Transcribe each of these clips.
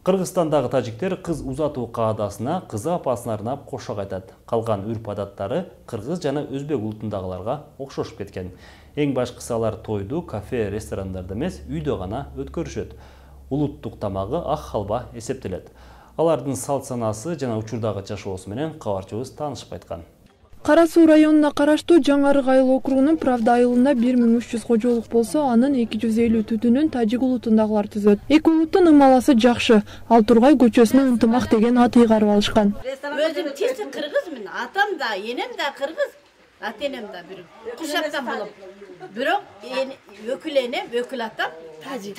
Кыргызстандагы тажиктер кыз узатуу каадасына кызы апасына арнап кошок айтат. Калган үрп-адаттары кыргыз жана өзбек улутундагыларга окшошуп кеткен. Эң башкысы алар тойду кафе, ресторандарда эмес, үйдө гана өткөрүшөт. Улуттук тамагы ак халва эсептелет. Алардын салт санасы жана учурдагы жашоосу менен кабарчыбыз таанышып кайткан. Кара Суу районуна караштуу Жаңарык айыл округунун Правда айылында 1300 кожолук болсо, анын 250 түтүнүн тажик улутундагылар түзөт. Эки улуттун ымаласы жакшы. Ал Тургай көчөсүнө ынтымак деген ат ыйгарып алышкан. Өзүм чечи кыргызмын, атам да, энем да кыргыз, ата-энем да бир кушаттан болуп. Бирок өкүл энем, өкүл атам тажик.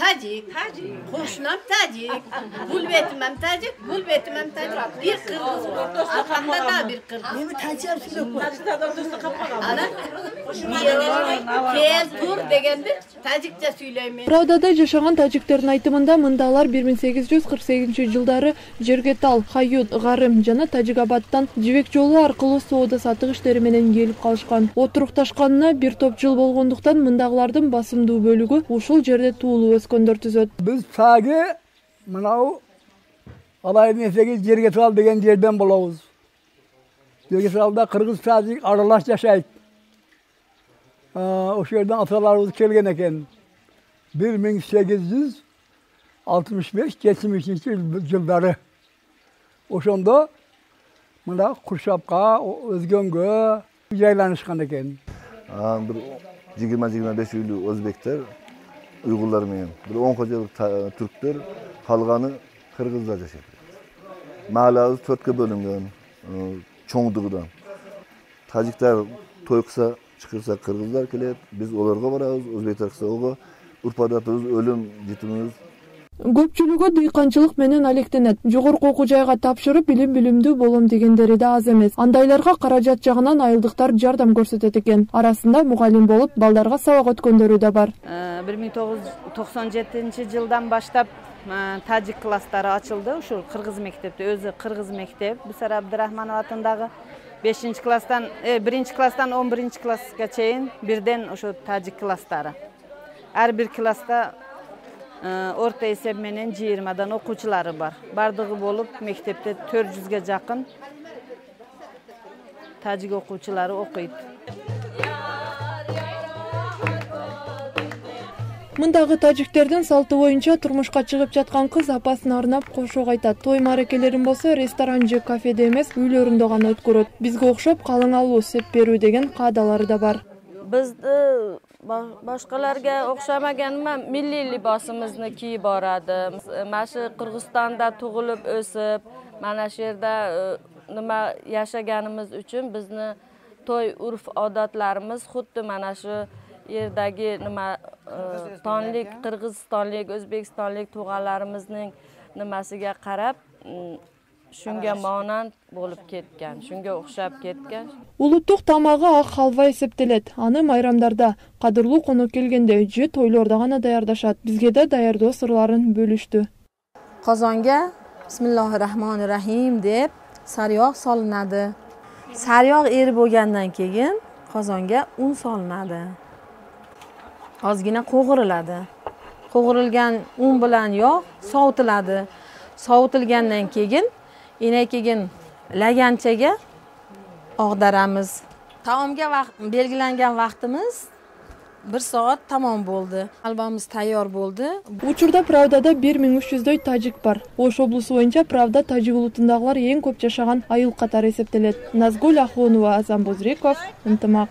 Кошунам тажик. Бул бетим ham тажик, бул бетим ham тажик. Бир кыргыз. Аркамда да бир кыргыз. Эми тажик сүйлөп койгон. Анан кел тур дегенде тажикча сүйлөйм. Правдада жашаган тажиктердин айтымында мында алар 1848-жылдары Жергетал, Хают, Гарым жана Тажикабадтан жибек жолу аркылуу соода сатык иштери менен келип калышкан. Отурукташканына бир топ жыл болгондуктан мындагылардын басымдуу бөлүгү ушул жерде туулуп өскөндөр түзөт. Биз саги мынау алайын эсеги Жергетал деген жерден болобуз. Жергеталда кыргыз тажик аралаш жашайт. Ошол жерден аталарыбыз келген экен. 1865-70 жылдары. Ошондо мына Куршапка, Өзгөнгө жайланышкан экен. Bir 20-25 үйлүү өзбектер, уйгурлар менен, bir 10 кожолук түрктөр, калганы кыргыздар жашайт. Маалабыз 4кө бөлүнгөн, чоңдугудан. Тажиктар той кылса, чакырса кыргыздар келет, биз олорго барабыз, өзбектер кылса ого, урп-адатыбыз, өлүм житимибиз. Көпчүлүгү дыйканчылык менен алектенет. Жогорку окуу жайга тапшырып, билимдүү болом дегендери да аз эмес. Андайларга каражат жагынан айылдыктар жардам көрсөтөт экен. Арасында мугалим болуп, балдарга сабак өткөндөрү да бар. 1997-жылдан баштап тажик класстары ачылды. Ушул кыргыз мектепте, өзү кыргыз мектеп. Бисара Абдырахманов атындагы 1-класстан 11-класска чейин бирден ошо тажик класстары. Ар бир класста орто эсеп менен 20дан окуучулары бар. Бардыгы болуп мектепте 400ге жакын тажик окуучулары окуйт. Мындагы тажиктердин салты боюнча турмушка чыгып жаткан кыз апасына арнап кошок айтат. Той маракелерин болсо ресторан же кафеде эмес, үйлөрүндө гана өткөрөт. Бизге окшоп калың алуу, сеп берүү деген каадалары да бар. Бизди башкаларга окшамаганыма милли либосимизни кийип барады. Машы Кыргызстанда тугулуп өсүп, мана шу жерде нima yashaganimiz uchun bizni to'y urf-odatlarimiz xuddi mana shu yerdagi nima tonlik, qirg'izistonlik, o'zbekistonlik tug'anlarimizning nimasiga qarab shunga monand bo'lib ketgan, shunga o'xshab ketgan. Улуттук тамагы ак халва эсептелет. Аны майрамдарда, кадырлуу конок келгенде же тойлордо гана даярдашат. Бизге да даярдоо сырларын бөлүштү. Qozonga Bismillahirrahmanirrahim deb sariyog' solinadi. Sariyog' erib bo'lgandan keyin qozonga un solinadi. Ozgina qo'g'iriladi. Qo'g'irilgan un bilan yog' sovutiladi. Sovutilgandan keyin laganchaga og'daramiz. Taomga belgilangan vaqtimiz 1 soat tamom bo'ldi. Halvamiz tayyor bo'ldi. Учурда Правдада 1300дөй тажик бар. Ош облусу боюнча Правда тажик улутундагылар эң көп жашаган айыл катары эсептелет. Назгуль Ахунова, Азам Бузриков, Ынтымак.